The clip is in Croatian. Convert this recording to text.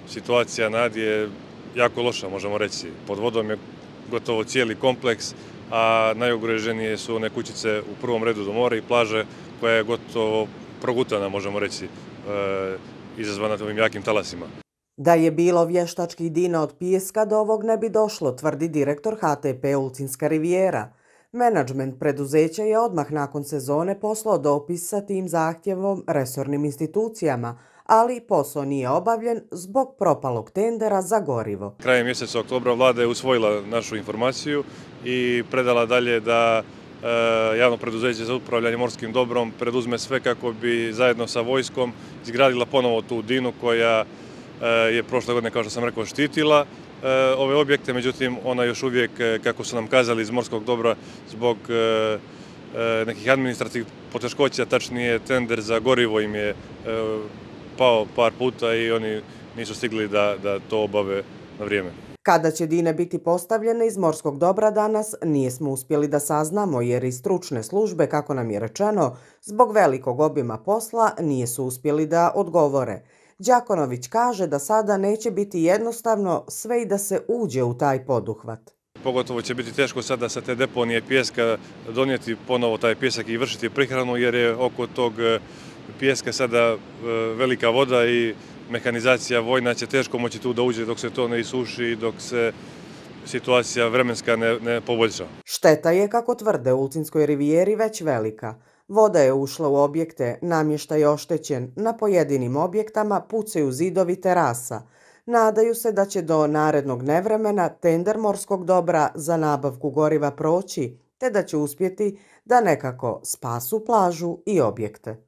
situacija na Adi je jako loša, možemo reći. Pod vodom je gotovo cijeli kompleks, a najugroženije su one kućice u prvom redu do mora i plaže koja je gotovo progutana, možemo reći, izazvana ovim jakim talasima. Da je bilo vještačkih dina od pijeska, do ovog ne bi došlo, tvrdi direktor HTP Ulcinska rivijera. Menadžment preduzeća je odmah nakon sezone poslao dopis sa tim zahtjevom resornim institucijama, ali posao nije obavljen zbog propalog tendera za gorivo. Krajem mjeseca oktobra vlada je usvojila našu informaciju i predala dalje da javno preduzeće za upravljanje morskim dobrom preduzme sve kako bi zajedno sa vojskom izgradila ponovo tu dinu koja je prošle godine, kao što sam rekao, štitila ove objekte, međutim ona još uvijek, kako su nam kazali iz morskog dobra, zbog nekih administrativnih poteškoća, tačnije tender za gorivo im je pao par puta i oni nisu stigli da to obave na vrijeme. Kada će dine biti postavljene iz morskog dobra danas, nismo uspjeli da saznamo jer i stručne službe, kako nam je rečeno, zbog velikog obima posla nisu uspjeli da odgovore. Đakonović kaže da sada neće biti jednostavno sve i da se uđe u taj poduhvat. Pogotovo će biti teško sada sa te deponije pijeska donijeti ponovo taj pijesak i vršiti prihranu jer je oko tog pijeska sada velika voda i mehanizacija vojna će teško moći tu da uđe dok se to ne isuši i dok se situacija vremenska ne poboljša. Šteta je, kako tvrde u Ulcinskoj rivijeri, već velika. Voda je ušla u objekte, namještaj je oštećen, na pojedinim objektama pucaju zidovi terasa. Nadaju se da će do narednog nevremena tender morskog dobra za nabavku goriva proći, te da će uspjeti da nekako spasu plažu i objekte.